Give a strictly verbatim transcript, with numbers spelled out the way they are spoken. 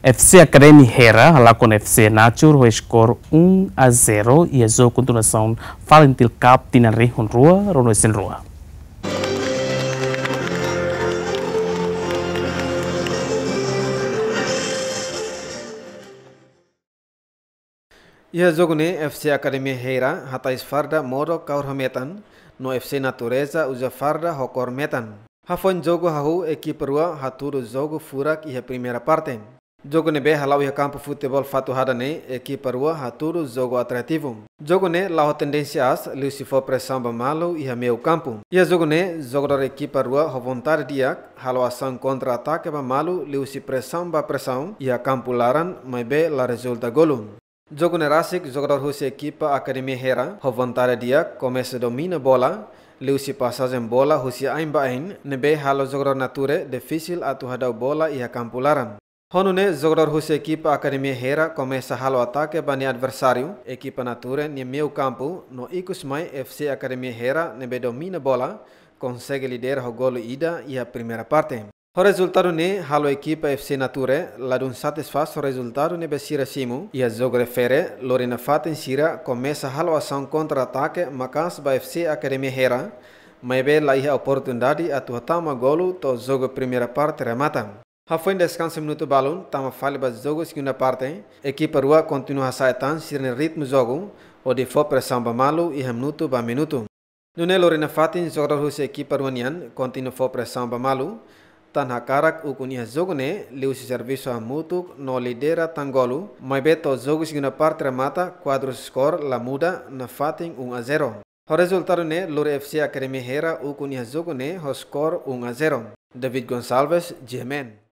F C Academy Hera halakon F C Nature ho skor um a zero iha jogu kontinuasaun Falintil Cup tinan rihun rua ruanulu-resin-rua. Iha jogu ne'e F C Academy Hera hatais farda modo kaur ho metan, no F C Natureza uza farda ho kór metan. Hafoin jogu hahú ekipa rua hatudu jogu furak iha primeira parte. Jogu ne'ebé hala'o iha kampu futeból Fatuhada ne'e ekipa rua hatudu jogu atrativu. Jogu ne'e la'o tendénsia aas, liuhusi fó presaun ba malu iha meiu kampu. Iha jogu ne'e jogadór ekipa rua ho vontade di'ak halo asaun kontra-atake ba malu liuhusi presaun ba presaun iha kampu laran, maibé la rezulta golu. Jogu ne'e rasik jogadór husi ekipa Academy Hera ho vontade di'ak komesa domina bola, liuhusi pasajen bola husi ain ba ain, ne'ebé halo jogadór Nature difisil atu hadau bola iha kampu laran. Ho nune'e jogadór husi ekipa Academy Hera komesa halo atake ba nia adversáriu, ekipa Nature nia meiu kampu, no ikus mai F C Academy Hera ne'ebé domina bola, konsege lidera ho golu ida iha primeira parte. Ho rezultadu ne'e halo ekipa F C Nature ladún satisfás ho rezultadu ne'ebé sira simu iha jogu refere, lori nafatin sira komesa halo asaun kontra-atake maka'as ba F C Academy Hera, maibé la iha oportunidade atu hatama golu to'o jogu primeira parte remata. Hafoin deskansa minutu balun, tama fali ba jogu segunda parte, ekipa rua kontinua hasa'e tan sira-nia ritmu jogu, hodi fó presaun ba malu iha minutu ba minutu. Nune'e lori nafatin jogadór husi ekipa rua nian kontinua fó presaun ba malu, tan hakarak ukun iha jogu ne'e liuhusi servisu hamutuk no lidera tan golu, maibé to'o jogu segunda parte remata kuadru skor la muda, nafatin um a zero. Ho rezultadu ne'e lori F C Academy Hera ukun iha jogu ne'e ho skor um a zero. David Gonçalves, G M N.